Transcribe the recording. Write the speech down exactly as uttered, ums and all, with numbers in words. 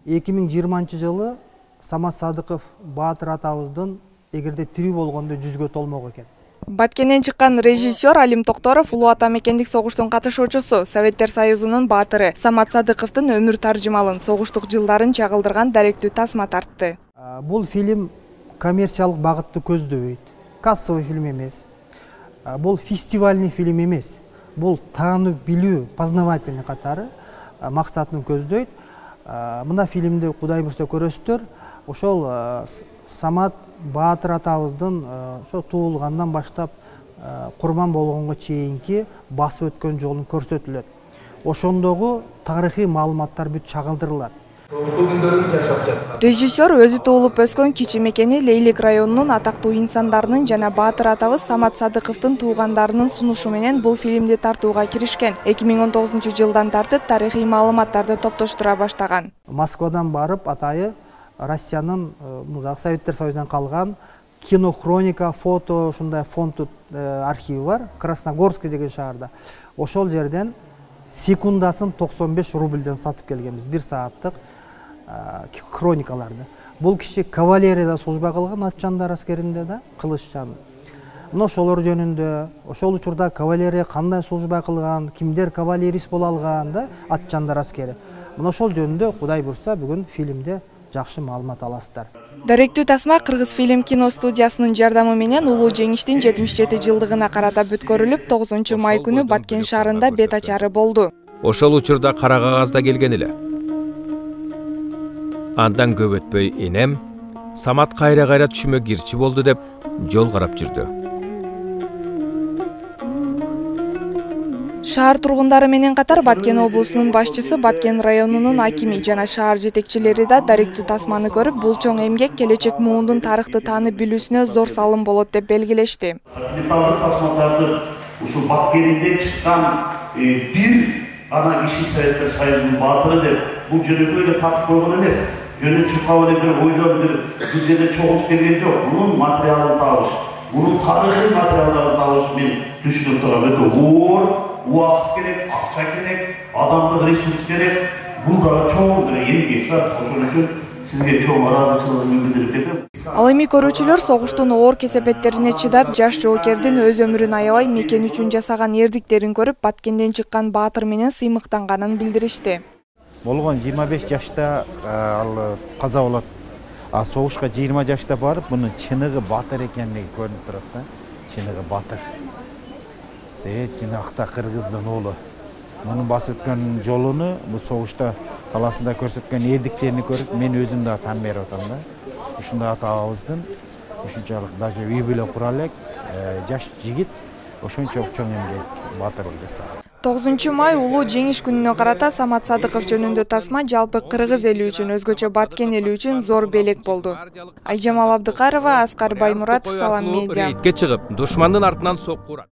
эки миң жыйырманчы жылы Самат Садыков баатыр атабыздын эгерде тирүү болгондо жүзгө толмок экен. Баткенден чыккан режиссер Алим Токторов улуу ата мекендик согуштун катышуучусу, Советтер Союзунун баатыры Самат Садыковдун өмүр таржымалын, согуштук жылдарын чагылдырган даректүү тасма тартты. Бул фильм коммерциялык багытты көздөбөйт. Кассовый фильм эмес. Бул фестивальный фильм эмес. Бул таанып билүү, познавательный катары максатын көздөйт. Мына фильмди Кудай буйрса көрөсүздөр. Ошол Самат баатыр атабыздын ошо туулгандан баштап курман болгонго чейинки басып өткөн жолун көрсөтүлөт. Ошондогу тарыхый маалыматтар бүт чагылдырылат. Режиссер өзү туулуп өскөн кичи мекени Лейлик районунун атактуу инсандарынын жана баатыр атабыз Самат Садыковдун туугандарынын сунушу менен бул фильмди тартууга киришкен. эки миң он тогузунчу жылдан тартып тарыхый маалыматтарды топтоштура баштаган. Москвадан барып атайы Россиянын Советтер Союзунан калган кинохроника, фото, ушундай фонд архиви бар, Красногорский деген шаарда. Ошол жерден секундасын токсон беш рубльден сатып келгенбиз, бир сааттык хроникаларды. Бул киши кавалерияда служба кылган, Атчандар аскеринде да, Кылыччан. Мына ошолор жөнүндө, ошол учурда кавалерия кандай служба кылган, кимдер кавалерист боло алган да, Атчандар аскери. Мына ошол жөнүндө Кудай буйрса бүгүн фильмде жакшы маалымат аласыздар. Даректүү тасма Кыргыз фильм киностудиясынын жардамы менен улуу жеңиштин жетимиш жети жылдыгына карата бүткөрүлүп, тогузунчу май күнү Баткен шаарында бет ачары болду. Ошол учурда кара кагазда келген эле. Андан көп өтпөй энем Самат кайра-кайра түшүмө кирчи болду деп жол карап жүрдү. Шаар тургундары менен катар Баткен облусунун башчысы, Баткен районунун акими жана шаар жетекчилери да даректүү тасманы көрүп, бул чоң эмгек келечек муундун тарыхты таанып билүүсүнө зор салым болот деп белгилешти. Документалдык тасмаларды ушул Баткенинде чыккан бир ана киши Советтер Союзунун баатыры деп бул жөнөкөй эле тартып койгон эмес. Жөнү чуркап эле бир ойлоп бир бир жерде чогултуп келген жок. Мунун материалын табыш, мунун тарыхый материалдарын табыш мен түшүнүп турам. Өтө оор убакыт керек, акча керек, адамдык ресурс керек. Бул да чоң бир эмгек бар. Ошон үчүн сизге чоң ыраазычылыгымды билдирип кетем. Ал эми көрүүчүлөр согуштун оор кесепеттерине чыдап, жаш жоокердин өз өмүрүн аябай мекен үчүн жасаган эрдиктерин көрүп, Баткенден чыккан баатыр менен сыймыктанганын билдиришти. Болгон жыйырма беш жашта ал каза болот. А согушка жыйырма жашта барып, мунун чыныгы баатыр экендиги көрүнүп турат да. Чыныгы баатыр. Сеет жинакта кыргыздын уулу. Мунун басып өткөн жолуну, бул согушта таласында көрсөткөн эрдиктерин көрүп, мен өзүм да таң берип атам да. Ушундай атабыздын ушунчалык даже үй бүлө кура элек жаш жигит ошончо чоң эмгек баатырлык жасаган. тогузунчу май улуу жеңиш күнүнө карата Самат Садыков жөнүндө тасма жалпы кыргыз эли үчүн, өзгөчө Баткен эли үчүн зор белек болду. Айжамал Абдыкарова, Аскар Баймуратов, Салам медиа. Рейдке чыгып, душмандын артынан сокку урат.